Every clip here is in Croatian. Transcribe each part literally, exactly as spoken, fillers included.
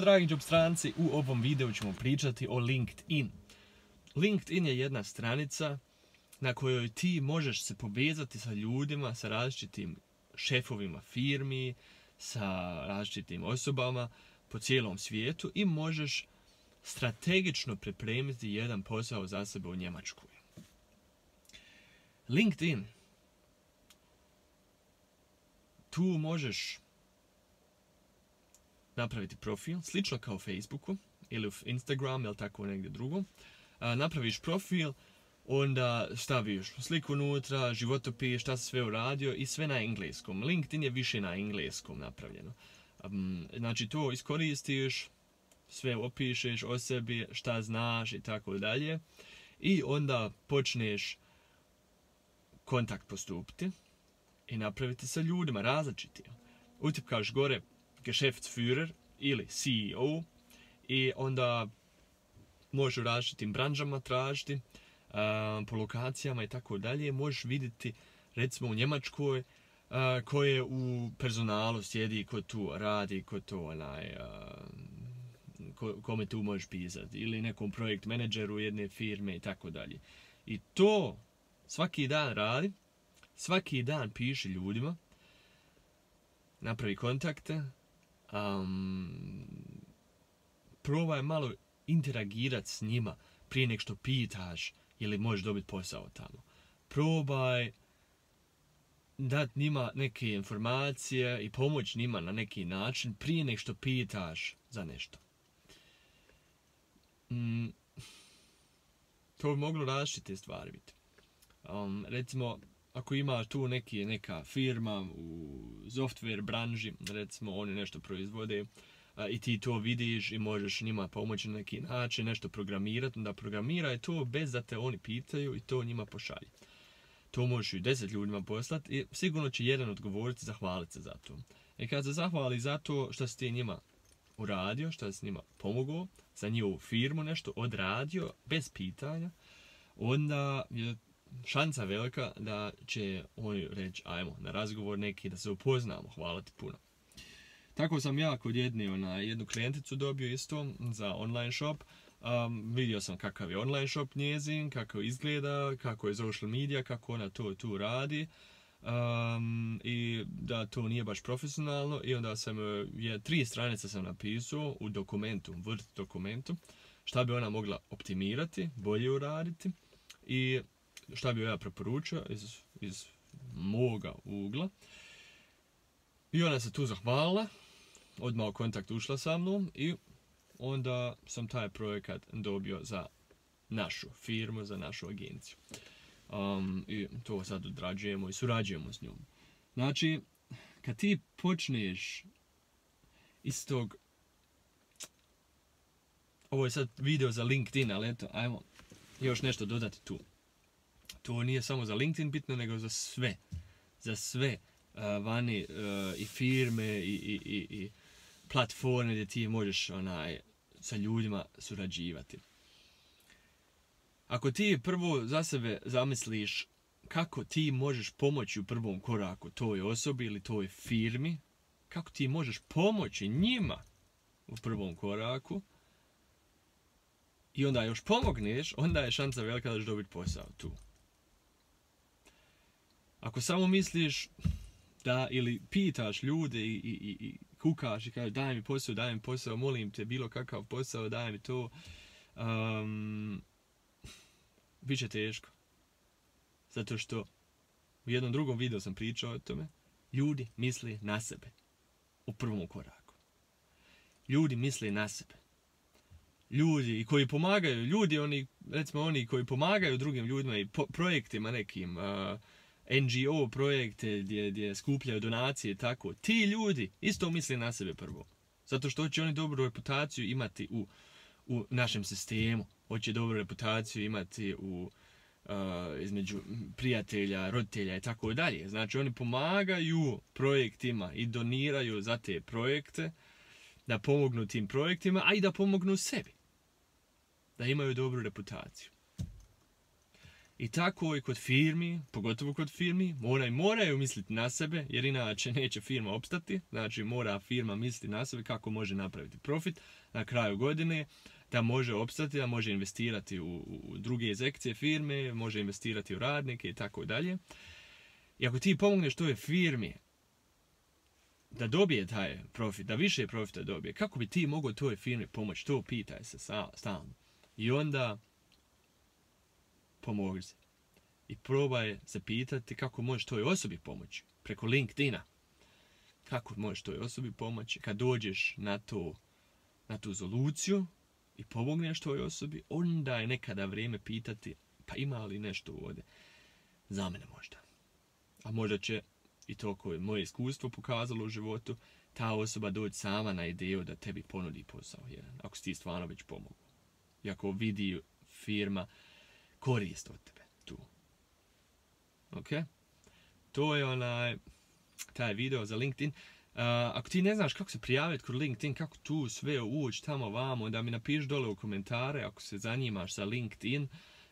Dragi job stranci, u ovom videu ćemo pričati o LinkedIn. LinkedIn je jedna stranica na kojoj ti možeš se povezati sa ljudima, sa različitim šefovima firmi, sa različitim osobama po cijelom svijetu i možeš strategično pripremiti jedan posao za sebe u Njemačkoj. LinkedIn. Tu možeš napraviti profil, slično kao u Facebooku ili u Instagram ili tako negdje drugo. A, napraviš profil, onda staviš sliku unutra, životopis, šta si sve uradio i sve na engleskom. LinkedIn je više na engleskom napravljeno. Um, znači to iskoristiš, sve opišeš o sebi, šta znaš i tako dalje. I onda počneš kontakt postupiti i napraviti sa ljudima različitim. Utipkaš gore Geschäftsführer ili C E O i onda možeš u različitim branžama tražiti, uh, po lokacijama i tako dalje. Možeš vidjeti recimo u Njemačkoj uh, ko je u personalu sjedi, ko tu radi, ko to onaj, uh, ko, kome tu možeš pisati ili nekom projekt menadžeru jedne firme i tako dalje. I to svaki dan radi, svaki dan piši ljudima, napravi kontakte, um, probaj malo interagirati s njima prije nek što pitaš ili možeš dobiti posao tamo. Probaj dati njima neke informacije i pomoć njima na neki način prije nek što pitaš za nešto. Mm, to bi moglo različite stvari biti. Um, recimo, ako ima tu neki, neka firma u software branži, recimo oni nešto proizvode, a, i ti to vidiš i možeš njima pomoći na neki način, nešto programirati, onda programiraj to bez da te oni pitaju i to njima pošalji. To možeš i deset ljudima poslati i sigurno će jedan odgovoriti, zahvaliti se za to. I kad se zahvali za to što si ti njima uradio, što si njima pomogao, za njihovu firmu nešto odradio, bez pitanja, onda je šansa velika da će oni reći ajmo na razgovor neki da se upoznamo, hvala ti puno. Tako sam ja kod jedne, ona, jednu klijenticu dobio isto za online shop. Um, vidio sam kakav je online shop njezin, kako izgleda, kako je social media, kako ona to tu radi. Um, I da to nije baš profesionalno i onda sam je, tri stranice sam napisao u dokumentu, Word dokumentu, šta bi ona mogla optimirati, bolje uraditi i šta bi ja preporučio iz, iz moga ugla. I ona se tu zahvalila, odmah u kontakt ušla sa mnom i onda sam taj projekat dobio za našu firmu, za našu agenciju. Um, I to sad odrađujemo i surađujemo s njom. Znači, kad ti počneš iz tog... Ovo je sad video za LinkedIn, ali eto, ajmo još nešto dodati tu. To nije samo za LinkedIn bitno, nego za sve. Za sve uh, vani uh, i firme i, i, i, i platforme gdje ti možeš onaj, sa ljudima surađivati. Ako ti prvo za sebe zamisliš kako ti možeš pomoći u prvom koraku toj osobi ili toj firmi, kako ti možeš pomoći njima u prvom koraku, i onda još pomogneš, onda je šansa velika da ćeš dobiti posao tu. Ako samo misliš da ili pitaš ljude i, i, i, i kukaš i kažeš daj mi posao, daj mi posao, molim te, bilo kakav posao, daj mi to, um, bit će teško. Zato što u jednom drugom videu sam pričao o tome, ljudi misle na sebe u prvom koraku. Ljudi misle na sebe. Ljudi koji pomagaju, ljudi oni, recimo oni koji pomagaju drugim ljudima i po, projektima nekim, uh, N G O projekte gdje, gdje skupljaju donacije i tako, ti ljudi isto misle na sebe prvo. Zato što hoće oni dobru reputaciju imati u, u našem sistemu, hoće dobru reputaciju imati u, uh, između prijatelja, roditelja i tako dalje. Znači oni pomagaju projektima i doniraju za te projekte, da pomognu tim projektima, a i da pomognu sebi. Da imaju dobru reputaciju. I tako i kod firmi, pogotovo kod firmi, moraju, moraju misliti na sebe, jer inače neće firma opstati. Znači mora firma misliti na sebe kako može napraviti profit na kraju godine, da može opstati, da može investirati u, u druge sekcije firme, može investirati u radnike i tako dalje. I ako ti pomogneš toj firmi da dobije taj profit, da više profita dobije, kako bi ti mogao toj firmi pomoći? To pitaj se stalno. I onda pomogli se. I probaj se pitati kako možeš toj osobi pomoći. Preko LinkedIna. Kako možeš toj osobi pomoći? Kad dođeš na, to, na tu soluciju i pomogneš toj osobi, onda je nekada vrijeme pitati, pa ima li nešto ovdje za mene možda. A možda će, i to koje je moje iskustvo pokazalo u životu, ta osoba doći sama na ideju da tebi ponudi posao jedan, ako si ti stvarno već pomogu. I ako vidi firma korist od tebe tu. Ok? To je onaj, taj video za LinkedIn. Uh, ako ti ne znaš kako se prijaviti kod LinkedIn, kako tu sve ući tamo vamo, onda mi napiši dole u komentare ako se zanimaš za LinkedIn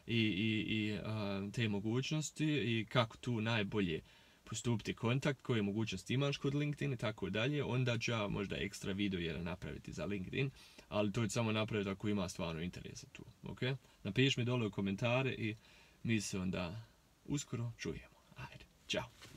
i, i, i uh, te mogućnosti i kako tu najbolje postupiti kontakt, koje mogućnosti imaš kod LinkedIn i tako dalje, onda ću ja možda ekstra video jedan napraviti za LinkedIn, ali to je samo napraviti ako ima stvarno interesa tu, ok? Napiši mi dole u komentare i mi se onda uskoro čujemo. Ajde, čao!